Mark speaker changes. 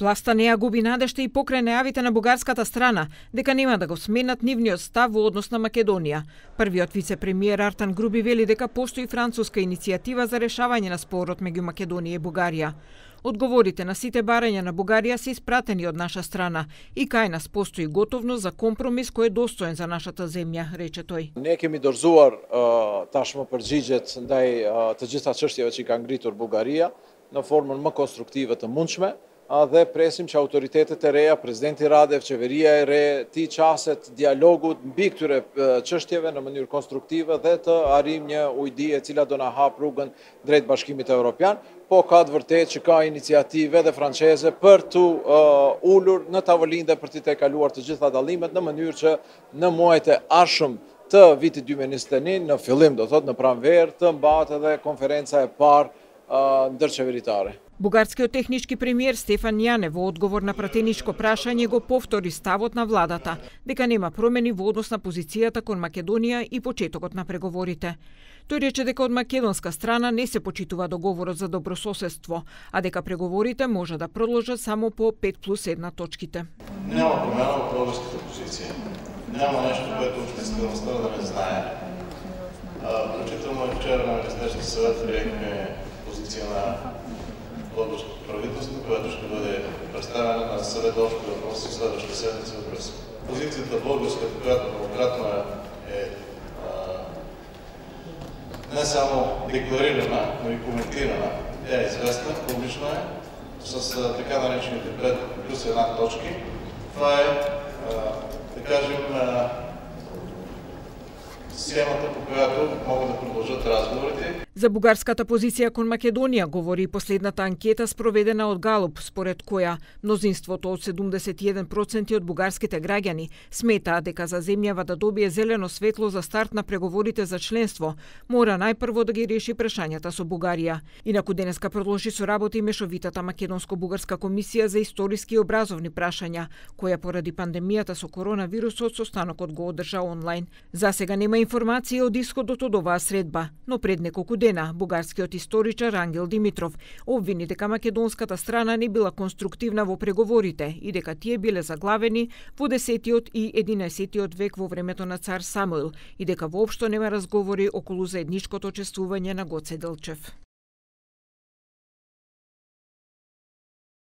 Speaker 1: Власта не ја губи надежта и покрај најавите на бугарската страна дека нема да го сменат нивниот став во однос на Македонија. Првиот вице-премиер Артан Груби вели дека постои француска иницијатива за решавање на спорот меѓу Македонија и Бугарија. Одговорите на сите барања на Бугарија се испратени од наша страна и кај нас постои готовност за компромис кој е достоен за нашата земја, рече тој.
Speaker 2: Ne kemi dorëzuar tashmë përgjigjet ndaj të gjitha çështjeve që ka ngritur Bugaria në formën më konstruktive të mundshme dhe presim që autoritetet e reja, presidenti Radev, qeveria e re, ti qaset dialogut mbi këtyre çështjeve në mënyrë konstruktive dhe të arrijmë një ujdi e cila do na hap rrugën drejt Bashkimit Evropian, po ka të vërtetë që ka iniciative dhe franceze për të ulur në tavolinë dhe për të tejkaluar të gjitha dallimet në mënyrë që në muajt e ardhshëm të vitit 2021 në fillim do thotë në pranverë të mbahet edhe konferenca e parë ndërqeveritare.
Speaker 1: Бугарскиот технички премиер Стефан Јане во одговор на пратеничко прашање го повтори ставот на владата дека нема промени во однос на позицијата кон Македонија и почетокот на преговорите. Тој рече дека од македонска страна не се почитува договорот за добрососедство, а дека преговорите може да продолжат само по 5+1 точките.
Speaker 3: Нема промена во българската позиција. Нема нешто което општествеността да не знае. Включително и вчера на Министерския съвет приехме позиција на българското правителство, която ще бъде представена на съвет общи въпроси следващата седмица в Брюксел. Позицията българската, която многократно е не само декларирана, но и коментирана, тя е известна, публична е, с така наречените 5+1 точки. Това е, да кажем, схемата, по която могат да продължат разговорите.
Speaker 1: За бугарската позиција кон Македонија говори и последната анкета спроведена од Галуп, според која мнозинството од 71% од бугарските граѓани сметаат дека за земјава да добие зелено светло за старт на преговорите за членство, мора најпрво да ги реши прашањата со Бугарија. Инаку денеска продолжи со работа и мешовитата македонско-бугарска комисија за историски и образовни прашања, која поради пандемијата со коронавирусот состанокот го одржа онлайн. За сега нема информација од исходот од оваа средба, но пред неколку дена бугарскиот историчар Ангел Димитров обвини дека македонската страна не била конструктивна во преговорите и дека тие биле заглавени во 10 и 11 век во времето на цар Самуил и дека воопшто нема разговори околу заедничкото чествување на Гоце Делчев.